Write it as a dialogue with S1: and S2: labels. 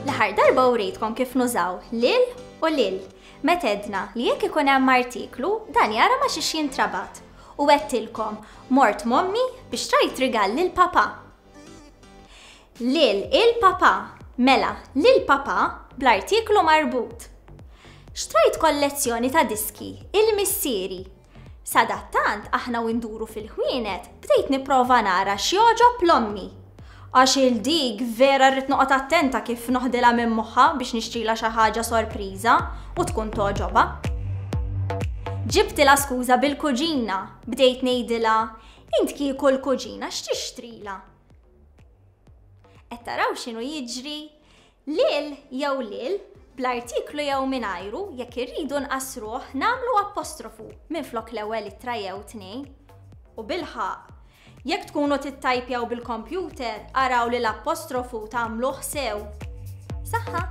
S1: L-aħħar darba urejtkom kif nużaw lil u lil. Meta għedna li jekk ikun hemm artiklu, dan jara ma xiex jintrabat. U għedtilkom, mort m'ommi biex trajt rigal lil papa. Lil il-papa, mela lil papa bl-artiklu marbut. Xtrajt kollezzjoni ta' diski il-missieri. Sadattant aħna u nduru fil-ħwienet bdejt nipprova nara x'jogħġob l-ommi. Għax il dik vera rrid noqgħod attenta kif noħdilha minn moħħha biex nixtrilha xi ħaġa sorpriża u tkun togħġobha. Ġibtilha skuża bil-kuġina, bdejt ngħidilha, int kieku l-kuġina x'tixtrilha? Qed taraw x'inhu jiġri? Lil jew lil, bl-artiklu jew mingħajru, jekk irridu nqassruh nagħmlu apostrofu minflok l-ewwel ittra jew tnejn. U bilħaqq, jekk tkunu tittajpjaw bil-kompjuter araw li l-apostrofu tagħmluh sew. Saħħa!